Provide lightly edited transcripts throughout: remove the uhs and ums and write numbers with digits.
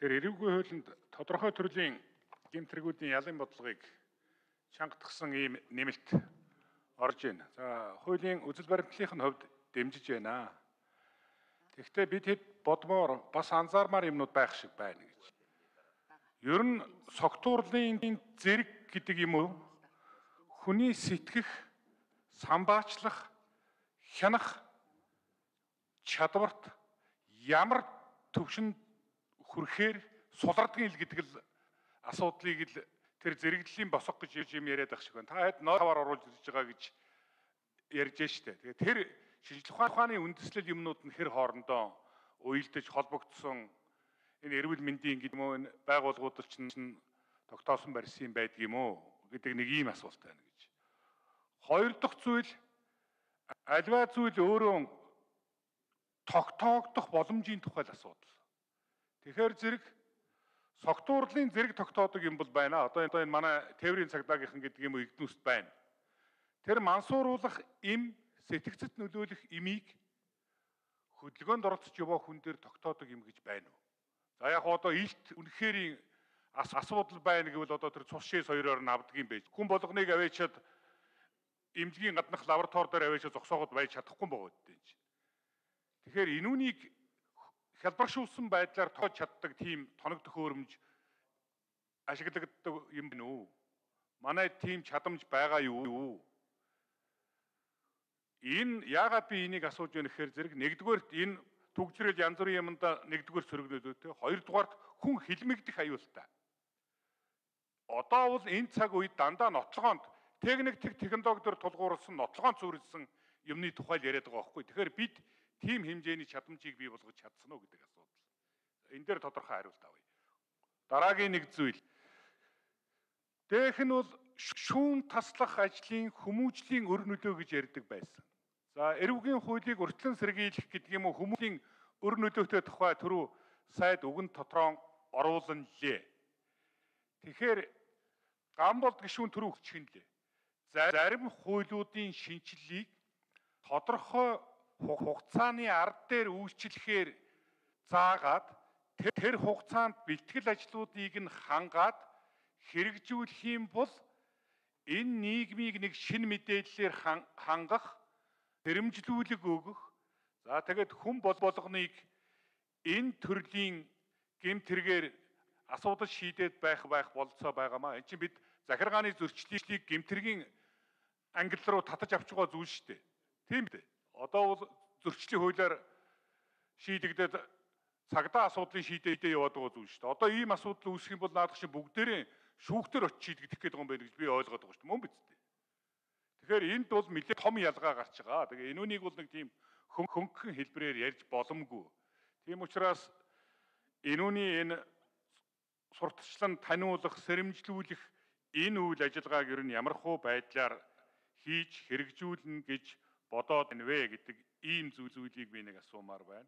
Тэгэхээр эрүүгийн хуулинд тодорхой төрлийн гэмтрэгүүдийн ялын бодлогыг чангатгсан ийм нэмэлт орж байна. За, хуулийн үзэл баримтлалын хувьд дэмжиж байна. Тэгэхдээ бид хэд бодмоор бас анзаармаар юмнууд байх шиг байна гэж. Ер нь согтуурлын зэрэг гэдэг юм уу? Хүний сэтгэх, самбаачлах, хянах чадварт ямар төвшөнд хүрэхээр сулардгийн ил гэдэг л асуудлыг л тэр зэрэглэлийн босго гэж юм яриад байх шиг байна. Та хэд ноотавар оруулж ирж байгаа гэж ярьж штэ. Тэгээд тэр шинжлэх ухааны үндэслэл юмнууд нь хэр хоорондоо уялдаж холбогдсон энэ эрүүл мэндийн гэдэг юм уу энэ байгууллагууд чинь тогтоосон барьсан байдаг юм уу гэдэг нэг ийм асуулт байна гэж. Хоёр дахь зүйл альва зүйл өөрөө тогтоогдох боломжийн тухай асуудал. Тэгэхээр зэрэг согтуурлын зэрэг тогтоодог юм бол байна. Одоо энэ манай тээврийн цагдаагийнхан гэдэг юм уу Игднүст байна. Тэр мансууруулах им сэтгцэд нөлөөлөх имийг хөдөлгөөнд оролцож яваа хүн дээр тогтоодог юм гэж байна уу? За яг одоо илт үнэхээр асуудал байна гэвэл одоо тэр цус шээ соёроор нь авдаг юм байж. Хүн болгоныг аваачаад эмнэлгийн гаднах лаборатори дээр аваачаад зогсоогод байж чадахгүй байгаа гэдэг юм чинь. Тэгэхээр энүүнийг хялбаршуулсан байдлаар тоож чаддаг тийм тоног төхөөрөмж ашиглагддаг юм байна уу? Манай тийм чадамж байгаа юу? Энэ яагаад би энийг асууж байна гэхээр зэрэг нэгдүгээрт энэ түгжрэл янз бүрийн юмд нэгдүгээр сөрөглөлөө те. Хоёрдугаарт хүн хилмигдэх аюултай. Одоо бол энэ цаг үед дандаа нотлогоонд техник технологиор тулгуурласан нотлогоонд суурилсан юмны тухай л яриад байгаа байхгүй. Тэгэхээр бид тийм хэмжээний чадамжийг бий болгож чадсан уу гэдэг асуудал. Энэ дээр тодорхой хариулт авъя. Дараагийн нэг зүйл. Дэх нь бол шүүн таслах ажлын хүмүүжлийн өр нөлөө гэж ярьдаг байсан. За, эрүүгийн хуулийг урьдчилан сэргийлэх гэдэг юм уу хүмүүсийн өр нөлөөтэй тухай түрүү сайд үгэн тотроо оруулан лээ. Тэгэхээр ган болд гишүүн түрүү хүчгэнлээ. Зарим хуулиудын шинжилгээг тодорхой хугацааны ард дээр үйлчлэхээр заагаад тэр хугацаанд бэлтгэл ажлуудыг нь хангаад хэрэгжүүлэх юм бол энэ нийгмийг нэг шинэ мэдээллээр хангах, дэрэмжлүүлэг өгөх. За тэгээд хүн болгоныг энэ төрлийн гэмтэргээр асуудал шийдээд байх болцоо байгаамаа. Энд чинь бид захиргааны зөрчлийг гэмтэргийн ангил руу татаж авч байгаа зүйл шүү дээ. Тийм дээ. Одоо бол зөрчлийн хуулиар шийдэгдээд цагдаа асуудлыг шийдээд яваад байгаа зүйл шүү дээ. Одоо ийм асуудал үүсэх юм бол наадах чинь бүгдээрээ шүүхтэр очиж шийдэгдэх гэдэг юм байна гэж би ойлгоод байгаа шүү дээ. Мөн биз дээ. Тэгэхээр энд бол нэлээд том ялгаа гарч байгаа. Тэгээ энүүнийг бол нэг тийм хөнгөн хэлбэрээр ярьж боломгүй. Тийм учраас энүүний энэ сурталчлан таниулах, сэрэмжлүүлэх энэ үйл ажиллагааг ер нь ямархуу байдлаар хийж хэрэгжүүлнэ гэж бодоод байна вэ гэдэг ийм зүйлийг би нэг асуумаар байна.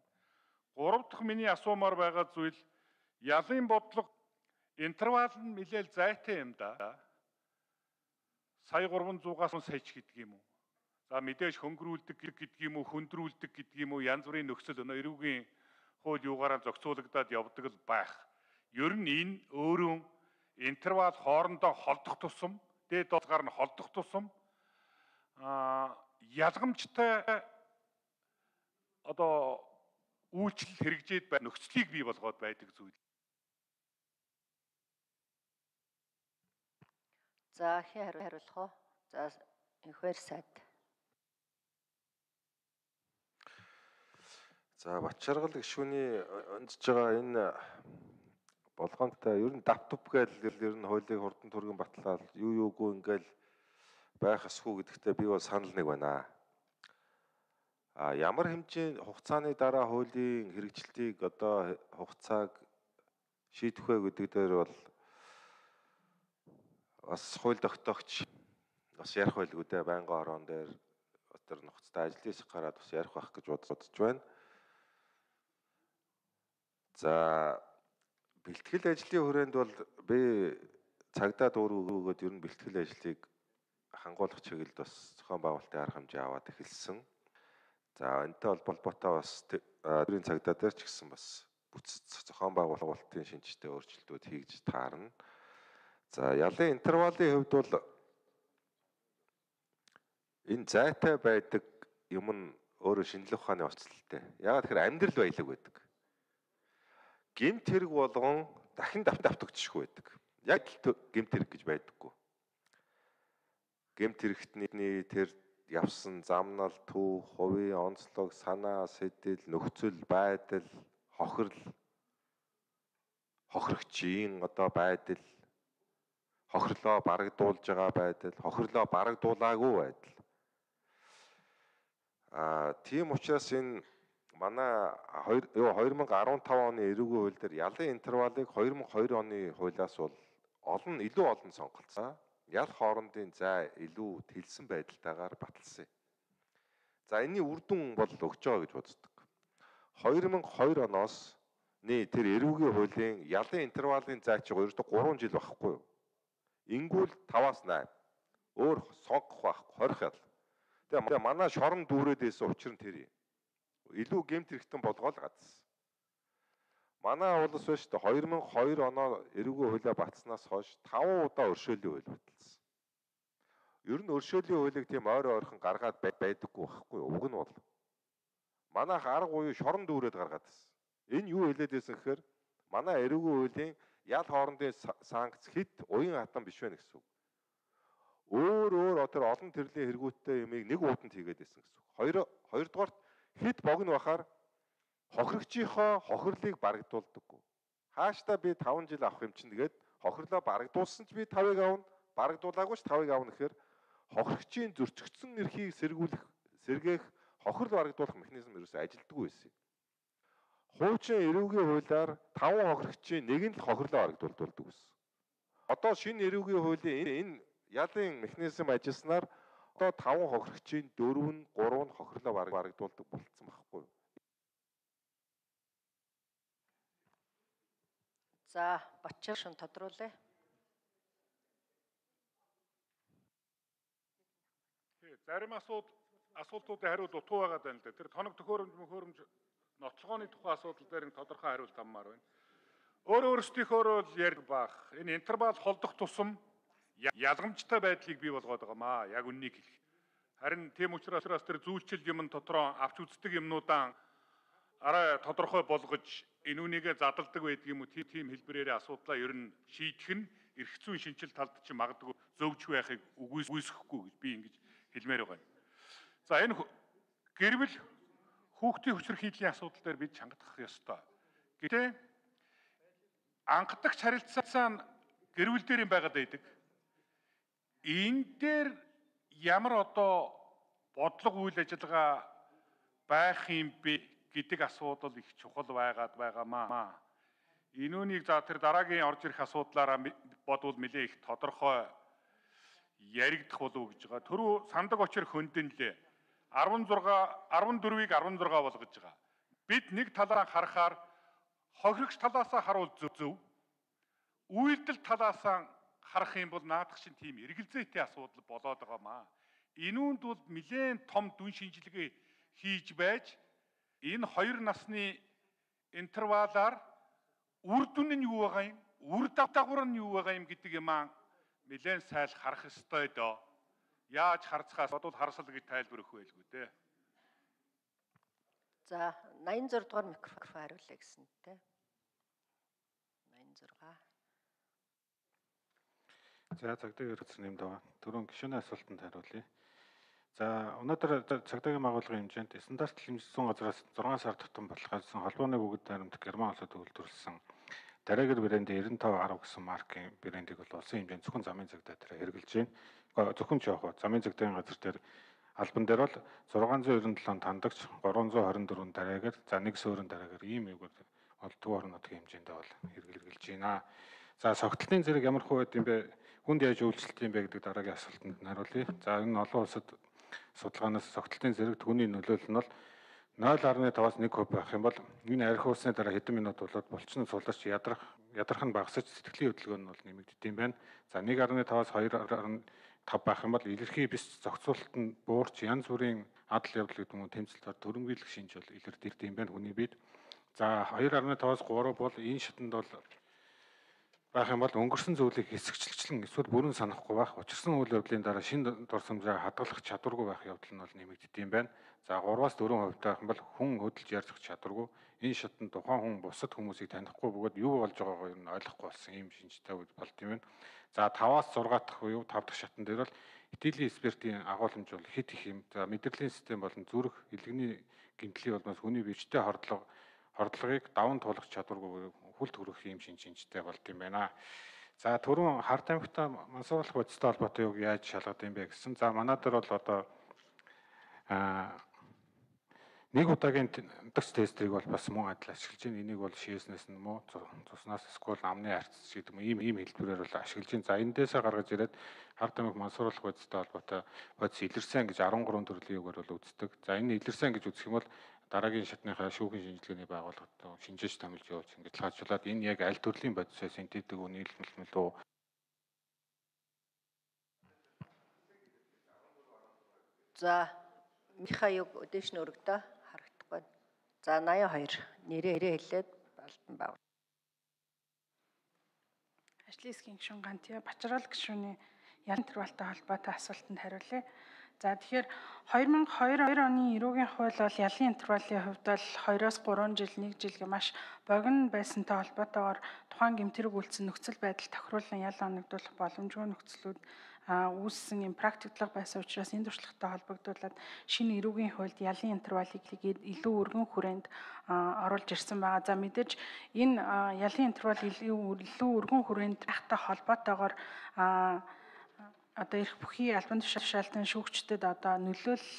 Гурав дахь миний асуумаар байгаа зүйл ялын бодлого интервал нь нэлээд зайтай юм да. Сая 300-аас саяч гэдэг юм уу? За мэдээж хөнгөрүүлдэг гэдэг юм уу, хөндрүүлдэг гэдэг юм уу, янз бүрийн нөхцөл эрүүгийн хууль юугаараа зохицуулагдаад явдаг л байх. Ер нь энэ өөрөө интервал хоорондоо холдох тусам, дээд долгаар нь холдох тусам ялгамжтай одоо үйлчлэл хэрэгжээд байх нөхцөлийг бий болгоод байдаг зүйл. За хариулах уу? За энэхээр сайд. За Батчаргал гишүүний онцж байгаа энэ болгоомтой ер нь давтв гээл ер нь хуулийг хурдан түргэн батлаад юугүй ингээл байх эсхүү гэдэгтээ би бол санал нэг байна. Ямар хэмжээний хугацааны дараа хуулийн хэрэгжилтийг одоо хугацааг шийдэх вэ гэдэг дээр бол бас хууль тогтоогч бас ярих байлгүй дээ байнгын орон дээр тэр нухацтай ажлын хэсэг гараад бас ярих байх гэж бодож байна. За бэлтгэл ажлын хүрээнд бол би цагдаа дуур өгөөд ер нь бэлтгэл ажлыг хангуулах чиглэлд бас зохион байгуулалтын арга хэмжээ аваад эхэлсэн. За энэтэй холбоотой бас тээврийн цагдаа дээр ч гэсэн бас бүтц зохион байгуулалтын шинжтэй өөрчлөлтүүд хийж таарна. За ялын интервалын хувьд бол энэ зайтай байдаг юм нь өөрөө шинжлэх ухааны онцлогтой. Яагаад тэгэхээр амьдрал баялаг байдаг. Гэмт хэрэг болгон дахин давтагдчихгүй байдаг. Яг гэмт хэрэг гэж байдаггүй. Гэмт хэрэгтний тэр явсан замнал, төв, хувийн онцлог, санаа, сэтэл, нөхцөл байдал, хохирогчийн одоо байдал, хохирлоо барагдуулж байгаа байдал, хохирлоо барагдуулаагүй байдал. Тийм учраас энэ манай 2015 оны эрүүгийн хууль дээр ялын интервалыг 2002 оны хуулиас бол илүү олон сонголцоо. Ял хоорондын зай илүү тэлсэн байдалтайгаар баталсан. За энэний үр дүн бол өгч байгаа гэж боддог. 2002 оноос тэр эрүүгийн хуулийн ялын интервалын зай чи 3 жил байхгүй юу? Ингүүл 5-аас 8. Өөр сонгох байхгүй 20 ял. Тэгээ манай шорон дүүрээд байсан учир нь тэр юм. Илүү гэмт хэрэгтэн болгоол гадсан. Манай улс биш үү 2002 оноо эрүүгийн хуулиа батснаас хойш 5 удаа өршөөлийн хууль баталсан. Ер нь өршөөлийн хуулийг тийм ойрхон гаргаад байдаггүй байхгүй юу? Уг нь бол манайх арга буюу шорон дүүрээд гаргаад байсан. Энэ юу хэлээд байсан гэхээр манай эрүүгийн хуулийн ял хоорондын санкц хит уян хатан биш вэ гэсэн үг. Өөр тэр олон төрлийн хэрэгүүдтэй юмыг нэг ууданд хийгээд байсан гэсэн үг. Хоёрдугаарт хит богино бахаар хохирогчийнхоо хохирлыг барагдуулдаггүй. Хааштай би 5 жил авах юм чинь тэгээд хохирлоо барагдуулсан ч би 5-ыг авна, барагдуулаагүй ч 5-ыг авна гэхээр хохирогчийн зөрчигдсөн эрхийг сэргээх хохирол барагдуулах механизм ерөөсөө ажилддаг байсан. Хуучин эрүүгийн хуулиар 5 хохирогчийн нэг нь л хохирлоо барагдуулдаг байсан. Одоо шинэ эрүүгийн хуулийн энэ ялын механизм ажилласнаар одоо 5 хохирогчийн 4 нь 3 нь хохирлоо барагдуулдаг болцсон байхгүй юу? За Батчаа шин тодруулъя. Зарим асуултуудын хариулт утга байгаа даа л да. Тэр тоног төхөөрөмж нотлогооны тухай асуудал дээр тодорхой хариулт аммаар байна. Өөрсдийнхөө л ярих баах. Энэ интервал холдох тусам ялгамжтай байдлыг бий болгоод байгаамаа. Яг үннийг хэлэх. Харин тийм учраас тэр зүүлчил юм дотроо авч үздэг юмнуудаа арай тодорхой болгож энүүнийгээ задалдаг байдаг юм уу? Тийм хэлбэрээр асуудлаа ер нь шийдэх нь эрх зүйн шинжил талд чинь магадгүй зөвж байхыг үгүйсэхгүй гэж би ингэж хэлмээр байгаа. За энэ гэрвэл хүүхдийн хүчрэх хийдлийн асуудал дээр бид чангадах ёстой. Гэтэ анхдагч харилцаа нь гэрвэл дээр юм байгаад байдаг. Энэ дээр ямар одоо бодлого үйл ажиллагаа байх юм бэ гэдэг асуудал их чухал байгаад байгаамаа. Энүүнийг за тэр дараагийн орж ирэх асуудлаараа бодвол нэлээ их тодорхой яригдах болов гэж байгаа. Түрүү сандаг очир хөндөнлээ. 14-ийг 16 болгож байгаа. Бид нэг талаа харахаар хохирогч талаасаа харуул зөв. Үйлдэл талаасаа харах юм бол наадах шин тийм эргэлзээтэй асуудал болоод байгаамаа. Энүүнд бол нэлээд том дүн шинжилгээ хийж байж энэ хоёр насны интервалаар үр дүн нь юу байгаа юм? Үр дагавар нь юу байгаа юм гэдэг юм аа нэлээд сайл харах ёстой доо. Яаж харцгаас бодвол харсал гэж тайлбар өгөх байлгүй дээ. За 86 дугаар микрофон хариулъя гэсэнтэй. 86. За цагдаагийн хэрэгцээ нэмд байгаа. Түрүүн гишүүний асуултанд хариулъя. За өнөөдөр цагдаагийн байгууллагын хэмжээнд стандарт хэмжсэн газраас 6 сар тутам баталгаажсан холбооны бүгд баримт Герман улсад үйлдвэрлэсэн Дарагер брендийн 9510 гэсэн маркийн брендийг бол улсын хэмжээнд зөвхөн замын цагдаа дээр хэрэгжилж байна. Зөвхөн ч явах замын цагдаагийн газар дээр албан дээр бол 697 тандагч 324 дараагер за нэг суурин дараагер ийм үг бол төв орон нутгийн хэмжээндээ бол хэрэгжилж байна. За согтолтын зэрэг ямар хөө байд юм бэ? Хүнд яаж үйлчлэлт юм бэ гэдэг дараагийн асуултанд хариулъя. За энэ олон улсад судалгаанаас согтолтын зэрэг түүний нөлөөлөл нь бол 0.5-аас 1% байх юм бол энэ арх уусны дараа хэдэн минут болоод булчин суларч ядрах нь багасаж сэтгэлийн хөдөлгөөн нь бол нэмэгддэм байна. За 1.5-аас 2.5 байх юм бол илэрхий бис зохицуулалт нь буурч янз бүрийн адал явдал гэдэг нь тэмцэлтээр төрөмгийлэх шинж бол илэрдэм байна хүний бид. За 2.5-аас 3 бол энэ шатанд бол байх юм бол өнгөрсөн зүйлийг хэсэгчлэн эсвэл бүрэн санахгүй байх, учирсан үйл явдлын дараа шинэ дурсамжаа хадгалах чадваргүй байх явдал нь бол нэмэгддэг юм байна. За 3-аас 4% байх юм бол хүн хөдөлж ярьж чадваргүй. Энэ шатанд тухайн хүн бусад хүмүүсийг танихгүй бөгөөд юу болж байгаагаа ер нь ойлгохгүй болсон юм шинжтэй болт юм байна. За 5-аас 6 дахь буюу 5 дахь шатан дээр бол итгэлийн экспертийн агуулмж бол хит их юм. За мэдрэлийн систем болон зүрх, илгэний гэмтлийн улмаас хүний бичтэй хордлогыг даван туулах чадваргүй хүл төрөх юм шинжтэй болт юм байна. За түрүүн Хард аймагта мансууруулах бодистой холбоотой юг яаж шалгад юм бэ гэсэн. За манай дээр бол одоо нэг удаагийн дагц тестрийг бол бас мөн адил ашиглаж байна. Энийг бол шийснээс нь муу цуснаас эсвэл амны арцс гэдэг юм ийм хэлбэрээр бол ашиглаж байна. За эндээсээ гаргаж ирээд Хард аймаг мансууруулах бодистой холбоотой бодис илэрсэн гэж 13 төрлийн үгээр бол үздэг. За энэ илэрсэн гэж үзэх юм бол дараагийн шатныхаа шүүхийн шинжилгээний байгууллагад шинжээж томилж явууч ингэж хаажуулаад энэ яг аль төрлийн бодисоос синтетик үү нийлмэл үү. За Миха юг өдөөш нь өргөдөө харагдахгүй. За 82 нэрээ хэлээд Балдан бав. Ажлын хэсгийн гишүүн Гантиа Бачрал гишүүний ял интервалтай холбоотой асуултанд хариулъя. За тэгэхээр 2002 оны эрүүгийн хууль бол ялын интервалын хувьд бол 2-оос 3 жил 1 жил маш богино байсантай холбоотойгоор тухайн гэмтэрэг үйлцэн нөхцөл байдал тохируулан ял оногдуулах боломжгүй нөхцлүүд үүссэн юм практиклог байсан учраас энэ туршлагатай холбогдуулаад шинэ эрүүгийн хуульд ялын интервалыг илүү өргөн хүрээнд оруулж ирсэн байгаа. За мэдээж энэ ялын интервал илүү өргөн хүрээнд байхтай холбоотойгоор одоо ирэх бүхий албан тушаалтан шүүгчдэд одоо нөлөөлөл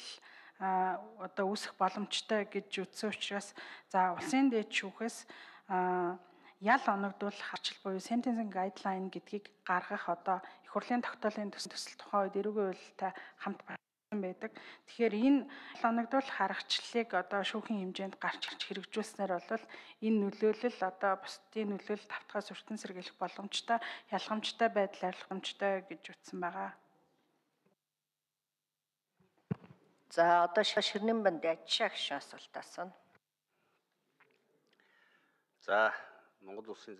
одоо үүсэх боломжтой гэж үзсэн учраас за улсын дээд шүүхээс ял оногдуулах арчил буюу sentencing guideline гэдгийг гаргах одоо их хурлын тогтоолын төсөл тухайн үед эрүүгийн хуультай хамт байдаг. Тэгэхээр энэ ял оногдуулах аргачлалыг одоо шүүхийн хэмжээнд гарч хэрэгжүүлснээр бол энэ нөлөөлөл одоо бусдын нөлөөлөлд автгаас өртөн сэргийлэх боломжтой, ялгамжтай байдал арилгамжтай гэж үзсэн байгаа. За одоо Ширнэн банд Ачаа гишүүн асуулт асууна. За Монгол Улсын